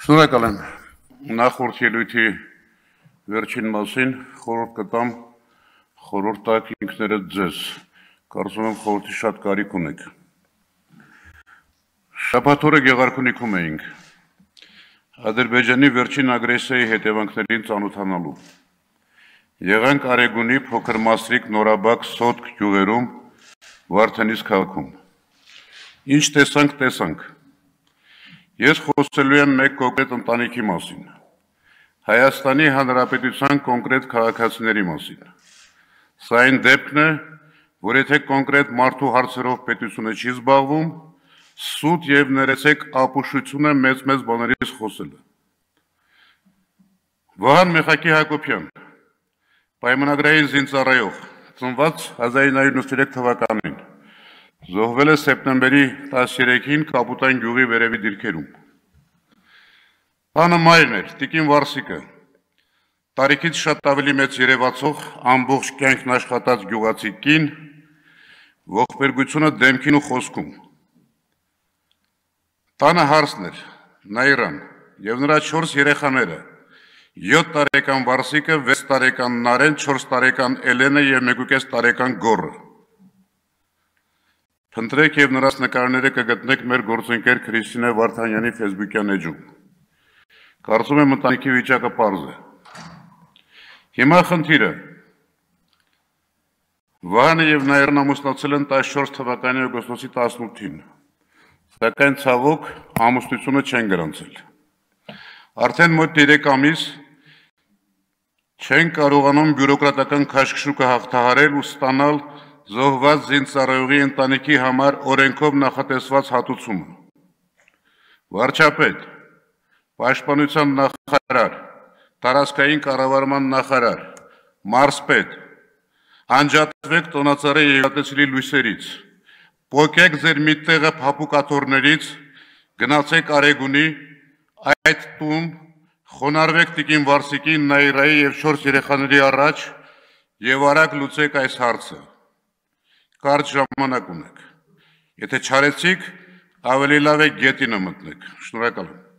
Շնորհակալ եմ նախորդ ելույթի վերջին մասին խորհուրդ կտամ խորհուրդ տաք ինքներդ ձեզ, կարծում եմ խորհրդի շատ կարիք ունեք։ Շաբաթ օրը Գեղարքունիքում էինք Ադրբեջանի վերջին ագրեսիայի հետևանքներին ծանոթանալու։ Եղանք Արեգունի փոքր Մասրիկ Նորաբակ Սոտք գյուղերում Վարդենիս քաղաքում։ Ինչ տեսանք։ Ես խոսելու եմ մեկ կոնկրետ ընտանիքի մասին, Հայաստանի Հանրապետության կոնկրետ քաղաքացիների մասին։ Սա այն դեպքն է, որ եթե կոնկրետ մարդու հարցերով պետությունը չի զբաղվում, սուտ եւ ներեցեք ապուշություն է մեծ բաներից խոսելը։ Վահան Մեխակի Հակոբյան, պայմանագրային զինծառայող, ծնված 1993 թվականին, զոհվել է սեպտեմբերի 13-ին Կապուտայն գյուղի վերևի դիրքերում։ Տանը մայրն էր, Տիկին Վարսիկը, տարիքից շատ ավելի մեծ երևացող, ամբողջ կյանքն աշխատած գյուղացի կին, ողբերգությունը դեմքին ու խոսքում։ Տանը հարսն էր, Նաիրան, եւ նրա 4 երեխաները, 7 տարեկան Վարսիկը, 6 տարեկան Նարեն, 4 տարեկան Էլենը եւ 1.5 տարեկան Գոռը։ Փնտրեք եւ նրանց նկարները կգտնեք մեր գործընկեր Քրիստինե Վարդանյանի Facebook-յան էջում։ Կարծում եմ ընտանիքի վիճակը պարզ է։ Հիմա խնդիրը։ Վահանը եւ Նաիրն ամուսնացել են 14 թվականի օգոստոսի 18-ին, սակայն ցավոք ամուսնությունը չեն գրանցել։ Արդեն մոտ 3 ամիս չեն կարողանում բյուրոկրատական քաշքշուկը հաղթահարել ու ստանալ զոհված զինծառայողի ընտանիքի համար օրենքով նախատեսված հատուցումը։ Վարչապետ, Պաշտպանության նախարար, տարածքային կառավարման նախարար, մարզպետ, անջատվեք տոնածառի երիտասարդի լույսերից, պոկեք ձեր մի տեղը փափուկաթոռներից, գնացեք Արեգունի, այդ տուն, խոնարհվեք Տիկին Վարսիկի, Նաիրայի եւ 4 երեխաների առաջ եւ արագ լուծեք այս հարցը։ Կարճ ժամանակ ունեք։ Եթե չարեցիք, ավելի լավ է գետինը մտնեք։ Շնորհակալ եմ։